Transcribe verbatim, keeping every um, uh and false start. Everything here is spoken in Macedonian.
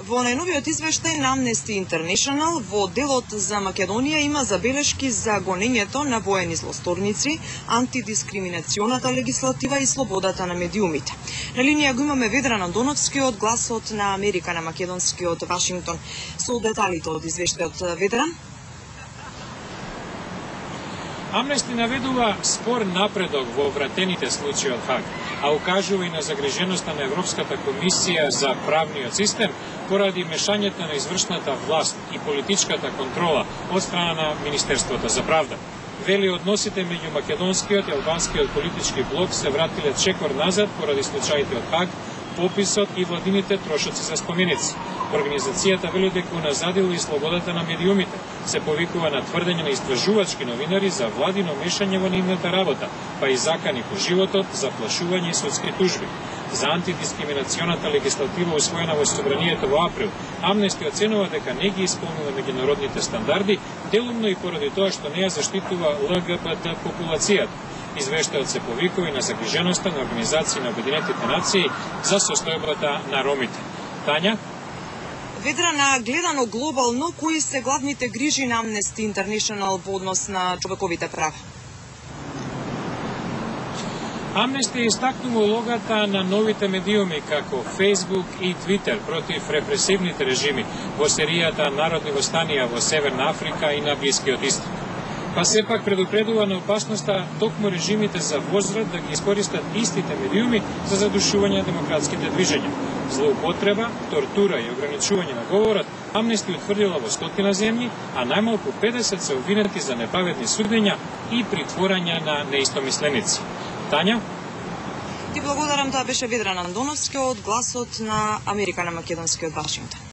Во најновиот извештај на Amnesty International, во делот за Македонија има забелешки за гонењето на воени злосторници, антидискриминационата легислатива и слободата на медиумите. На линија го имаме Ведран Андоновски од Гласот на Америка на македонскиот Вашингтон. Со деталите од извештајот, Ведран. Амнести наведува спор напредок во вратените случаи од Хаг, а укажува и на загриженоста на Европската комисија за правниот систем поради мешањето на извршната власт и политичката контрола од страна на Министерството за правда. Вели односите меѓу македонскиот и албанскиот политички блок се вратиле чекор назад поради случаите од Хаг, пописот и владините трошоци за споменици. Организацијата вели дека уназадила и слободата на медиумите. Се повикува на тврдење на истражувачки новинари за владино мешање во нивната работа, па и закани по животот, заплашување и судски тужби. За антидискриминационата легислатива усвоена во собранието во април, Амнести оценува дека не ги исполнува меѓународните стандарди, делумно и поради тоа што не ја заштитува Л Г Б Т популацијата. Извештајот се повикува и на загриженоста на Организација на Обединетите нации за состојбата на ромите. Тања? Ведрана, гледано глобално, кои се главните грижи на Amnesty International во однос на човековите права? Амнести истакнува улогата на новите медиуми како Facebook и Twitter против репресивните режими во серијата народни востанија во Северна Африка и на Блискиот Исток. Па сепак предупредува на опасноста токму режимите за возврат да ги искористат истите медиуми за задушување на демократските движења. Злоупотреба, тортура и ограничување на говорот Амнести утврдила во стотина земји, а најмалку педесет се обвинети за неправедни судења и притворање на неистомисленици. Тања? Ти благодарам, тоа беше Ведран Андоновски од Гласот на Америка на македонскиот Вашингтон.